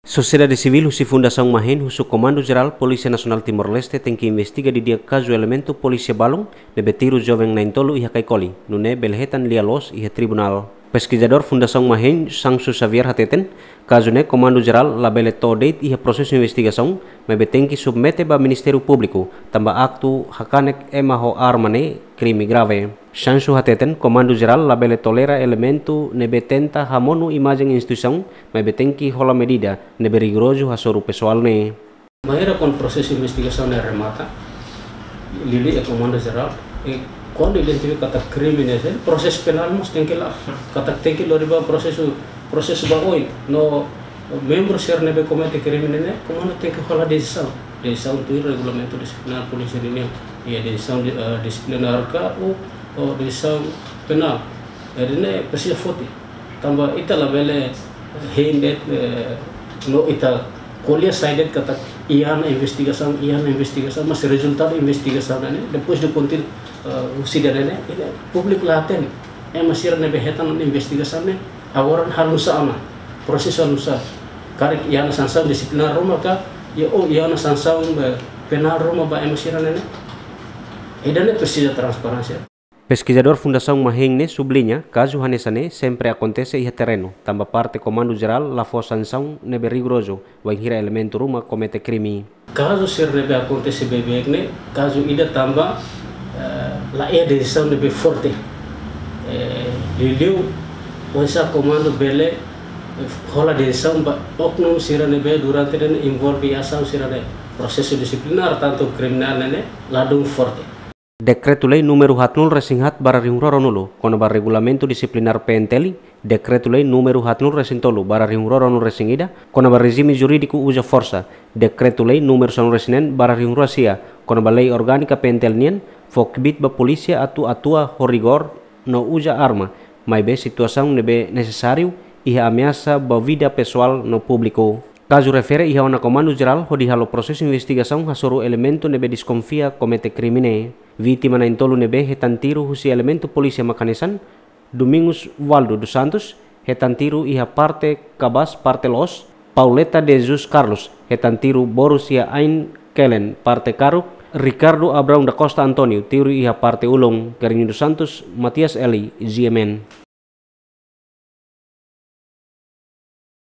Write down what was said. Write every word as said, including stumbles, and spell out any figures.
Sosiedade sivíl husi Fundasaun Mahein husu Komandu Jerál Polísia Nasionál Timor-Leste tenke investiga didi'ak kazu elementu polísia balun ne'ebé tiru joven na'in-tolu iha Kaikoli, nune'e bele hetan lia-loos iha tribunál. Peskizadór Fundasaun Mahein, Sancho Xavier hateten, kazu ne'e Komandu Jerál labele to'o de'it iha prosesu investigasaun, maibé tenke submete ba Ministériu Públiku, tanba aktu hakanek ema ho arma ne'e krime grave. Sancho hateten, Komandu Jerál labele tolera elementu ne'ebé tenta hamonu imajen instituisaun, maibé tenke hola medida ne'ebé rigorozu hasoru pesoál ne'e. Maneira kuandu prosesu investigasaun ne'e remata, liuliu iha Komandu Jerál, e kuandu identifika katak krime ne'e, prosesu penál mós tenke la'o, katak tenke lori ba prosesu, prosesu ba oin, no membru sira ne'ebé komete krime ne'e, komandu tenke hola desizaun. Desizaun tuir regulamentu disiplinár polísia ninian, iha desizaun di-, eh, disiplinár ka, ou, ou desizaun penál. Jadi ne'e presiza foti. Tanba ita labele hein de'it, eh, no ita ko'alia sai de'it katak iha ona investigasaun, iha ona investigasaun, mas rezultadu investigasaun ne'e, depois de kontinu, eh, husi ida-ne'e, ida públiku la hatene. Ema sira ne'ebé hetan ona investigasaun ne'e, agora halo nusá ona, prosesu halo nusá. Karik iha ona sansaun disiplinár ruma ka, iha, ou iha ona sansaun, eh, penál ruma ba ema sira-ne'e ne'e. Ida-ne'e presiza transparénsia. Peskizadór Fundasaun Mahein ne'e subliña, kazu hanesan ne'e sempre akontese iha terrenu, tanba parte Komandu Jerál la fó sansaun ne'ebé rigorozu, wainhira elementu ruma komete krime. Kazu sira ne'ebé akontese beibeik ne'e, kazu ida tanba, eh, la iha desizaun ne'ebé forte. Eh, liuliu, oinsá komandu bele, eh, hola desizaun ba oknum sira ne'ebé durante ne'e envolve iha asaun sira ne'e, prosesu disiplinár, tantu kriminál ne'e ne'e, ladún forte. Dekretu-Lei númeru haatnulu-resin-haat barra rihun rua ruanulu, kona-ba Regulamentu Disiplinár P N T L, Dekretu-Lei númeru haatnulu-resin-tolu barra rihun rua ruanulu-resin-ida, kona-ba rejime jurídiku uza forsa, Dekretu-Lei númeru sanulu-resin-neen barra rihun rua sia, kona-ba Lei Orgánika P N T L nian, fó kbiit ba polísia atu atua ho rigór no uza arma, maibé situasaun ne'ebé nesesáriu iha ameasa ba vida pesoál no públiku. Kazu refere iha ona Komandu Jerál hodi halo prosesu investigasaun hasoru elementu ne'ebé deskonfia komete krime ne'e. Vítima na'in-tolu ne'ebé hetan tiru husi elementu polísia mak hanesan, Domingos Valdo dos Santos, hetan tiru iha parte kabaas parte loos, Pauleta de Jesus Carlos, hetan tiru borus iha ain kelen parte karuk, Ricardo Abrão da Costa António, tiru iha parte ulun, Carlinho dos Santos, Matias Eli, G M N.